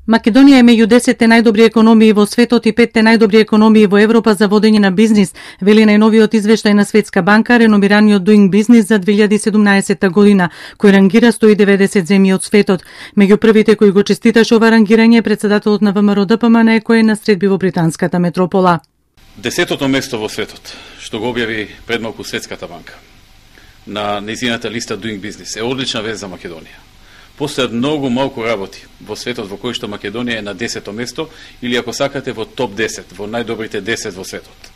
Македонија е меѓу 10 најдобри економии во светот и 5 најдобри економии во Европа за водење на бизнис, вели најновиот извештај на Светска банка, реномираниот Doing Business за 2017 година, кој рангира 190 земји од светот. Меѓу првите кои го честиташе ова рангирање е председателот на ВМРО ДПМН кој е на средби во британската метропола. 10-то место во светот, што го објави пред малку Светската банка на нејзината листа Doing Business, е одлична вест за Македонија. Постојат многу малку работи во светот во кој што Македонија е на 10-то место или ако сакате во топ 10, во најдобрите 10 во светот.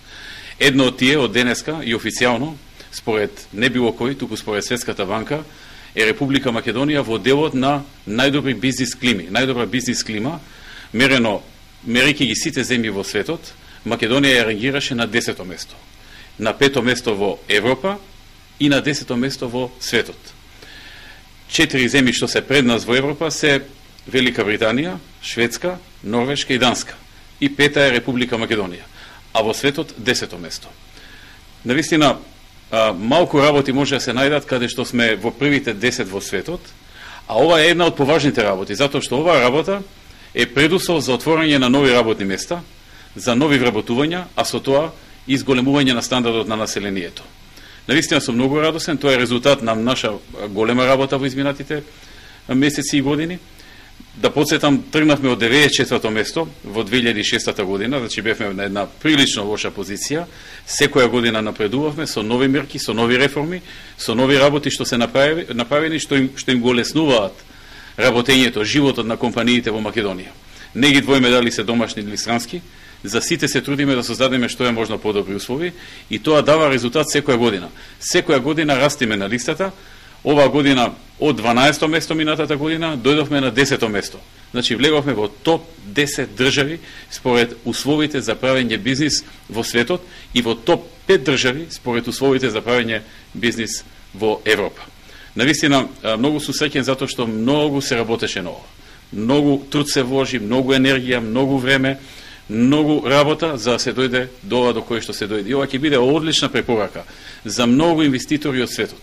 Едно од тие од денеска и официјално, според не било кој, туку според Светската банка, е Република Македонија во делот на најдобри бизнис клими. Најдобра бизнис клима, мерејќи ги сите земји во светот, Македонија ја рангираше на 10-то место. На 5-то место во Европа и на 10-то место во светот. 4 земји што се пред нас во Европа се Велика Британија, Шведска, Норвешка и Данска. И 5-та е Република Македонија. А во светот 10-то место. Навистина, малку работи може да се најдат каде што сме во првите 10 во светот, а ова е една од поважните работи, затоа што оваа работа е предуслов за отворање на нови работни места, за нови вработувања, а со тоа и зголемување на стандардот на населението. Навистина сум многу радосен, тоа е резултат на наша голема работа во изминатите месеци и години. Да подсетам, тргнавме од 94-то место во 2006 година, значи бевме на една прилично лоша позиција. Секоја година напредувавме со нови мерки, со нови реформи, со нови работи што се направени, што им го леснуваат работењето, животот на компаниите во Македонија. Не ги двоиме дали се домашни или странски, за сите се трудиме да создадеме што е можно подобри услови и тоа дава резултат секоја година. Секоја година растиме на листата. Оваа година од 12-то место минатата година дојдовме на 10-то место. Значи влеговме во топ 10 држави според условите за правење бизнис во светот и во топ 5 држави според условите за правење бизнис во Европа. Навистина многу сум среќен затоа што многу се работеше на ова. Многу труд се вложи, многу енергија, многу време, многу работа за да се дојде до ова до кој што се дојде. И ова ќе биде одлична препорака за многу инвеститори од светот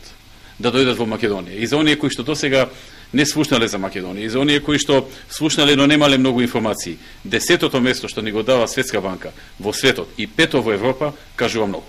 да дојдат во Македонија. И за оние кои што досега не слушнале за Македонија, и за оние кои што слушнале но немале многу информации. 10-то место што ни го дава Светска банка во светот и 5-то во Европа кажува многу.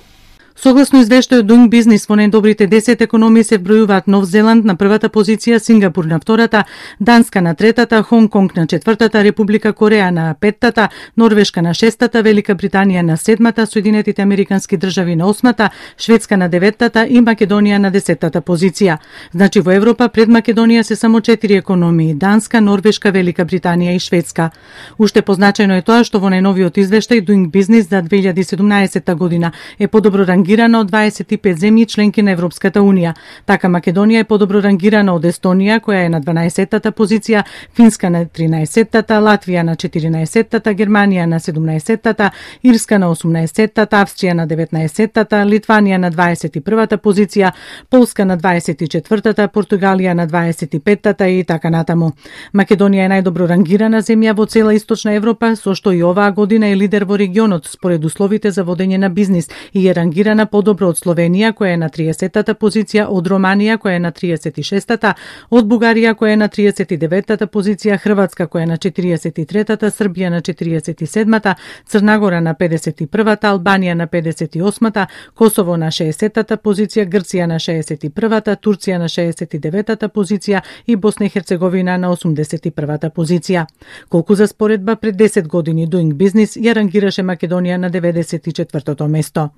Согласно извештајот Doing Business, во најдобрите 10 економии се вбројуваат Нов Зеланд на првата позиција, Сингапур на втората, Данска на третата, Хонг Конг на четвртата, Република Кореја на петтата, Норвешка на шестата, Велика Британија на седмата, Соединетите Американски држави на осмата, Шведска на деветтата и Македонија на 10-та позиција. Значи во Европа пред Македонија се само 4 економии: Данска, Норвешка, Велика Британија и Шведска. Уште позначајно е тоа што во најновиот извештај Doing Business за 2017 година е подобро рангирана од 25 земји членки на Европската Унија. Така Македонија е подобро рангирана од Естонија, која е на 12-та позиција, Финска на 13-та, Латвија на 14-та, Германија на 17-та, Ирска на 18-та, Австрија на 19-та, Литванија на 21-та позиција, Полска на 24-та, Португалија на 25-та и така натаму. Македонија е најдобро рангирана земја во цела Источна Европа, со што и оваа година е лидер во регионот според условите за водење на бизнис и е рангирана подобро од Словенија, која е на 30-та позиција, од Романија, која е на 36-та, од Бугарија, која е на 39-та позиција, Хрватска, која е на 43-та, Србија на 47-та, Црнагора на 51-та, Албанија на 58-та, Косово на 60-та позиција, Грција на 61-та, Турција на 69-та позиција и Босна и Херцеговина на 81-та позиција. Колку за споредба, пред 10 години Doing Business ја рангираше Македонија на 94-то место.